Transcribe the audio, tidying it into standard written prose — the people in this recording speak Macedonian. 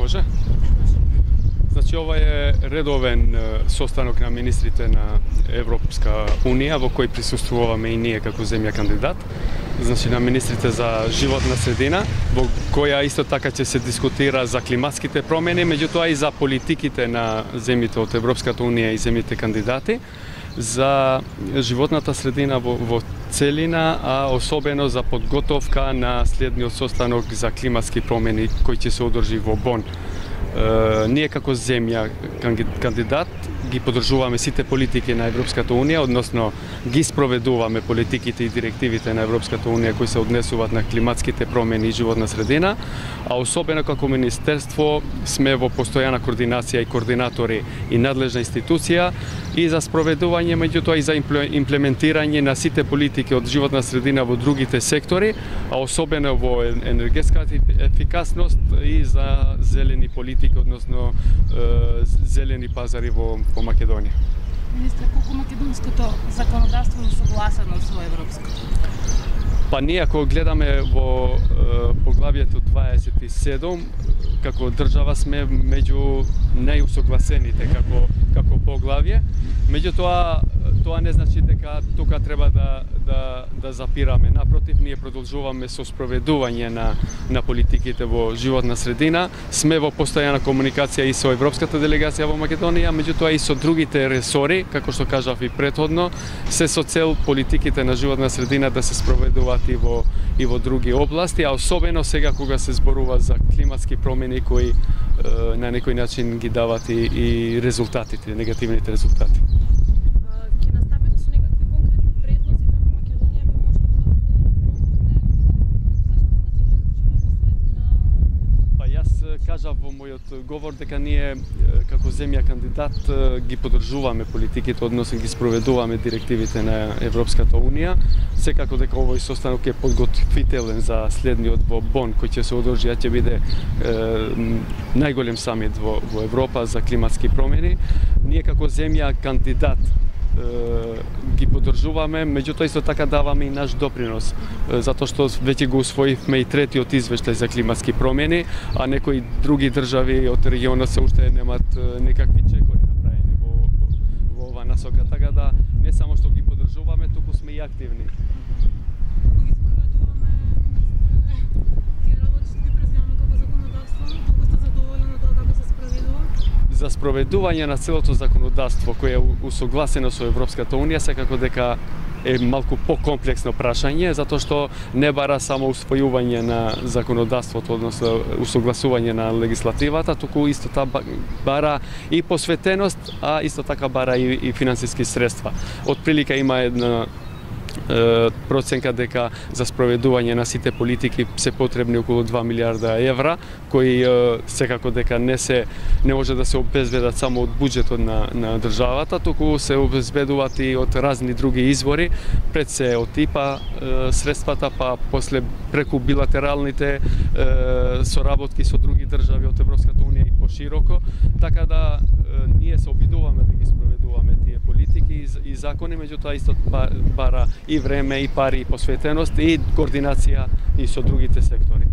Може? Значи, ова е редовен состанок на министрите на Европска Унија, во кој присуствуваме и ние како земја кандидат. Значи, на министрите за животна средина, во која исто така ќе се дискутира за климатските промени, меѓутоа и за политиките на земјите од Европската Унија и земјите кандидати, за животната средина во целина, а особено за подготовка на следниот состанок за климатски промени кој ќе се одржи во Бон. Ние како земја кандидат ги поддржуваме сите политики на Европската Унија, односно ги спроведуваме политиките и директивите на Европската Унија кои се однесуваат на климатските промени и животна средина, а особено како министерство сме во постојана координација и координатори и надлежна институција и за спроведување, меѓутоа и за имплементирање на сите политики од животна средина во другите сектори, а особено во енергетска ефикасност и за зелени политики, односно зелени пазари во Македонија. Министре, колку македонското законодавство е согласено со европското? Па ние ако гледаме во поглавието 27, како држава сме меѓу најусогласените како поглавје. Меѓутоа, тоа не значи дека тука треба да запираме. Напротив, ние продолжуваме со спроведување на политиките во животна средина. Сме во постојана комуникација и со Европската делегација во Македонија, меѓутоа и со другите ресори, како што кажав и претходно, се со цел политиките на животна средина да се спроведуваат и во други области, а особено сега кога се зборува за климатски промени кои на некој начин ги дават и резултатите, негативните резултати. Ќе наставите со некакви конкретни предлози како Македонија би можела да помогне Па јас кажав во мојот говор дека ние како земја кандидат ги поддржуваме политиките, односно ги спроведуваме директивите на Европската Унија. Секако дека овој состанок е подготвителен за следниот во Бон, кој ќе се одржи, ќе биде најголем самит во Европа за климатски промени. Ние како земја кандидат ги поддржуваме, меѓутоа исто така даваме и наш допринос, затоа што веќе го усвоивме и третиот извештај за климатски промени, а некои други држави од регионот се уште немаат некакви чекори направени во ова насока, така да не само што ги поддржуваме, туку сме и активни. Колку ги спроведуваме, тие работи што ги преземаме како законодавство, колку сте задоволени од тоа како се спроведува? За спроведување на целото законодавство кое е усогласено со Европската Унија, секако дека е малку покомплексно прашање, затоа што не бара само усвојување на законодавството, односно усогласување на легислативата, туку исто така бара и посветеност, а исто така бара и финансиски средства. Од прилика има една проценка дека за спроведување на сите политики се потребни околу 2 милиарда евра, кои секако дека не може да се обезбедат само од буџетот на државата, туку се обезбедуваат и од разни други извори, пред се од ИПА средствата, па после преку билатералните соработки со други држави од Европската Унија и пошироко, така да ние се обидуваме да ги спроведуваме тие политики и закони, меѓутоа исто бара и време, и пари, и посветеност, и координација и со другите сектори.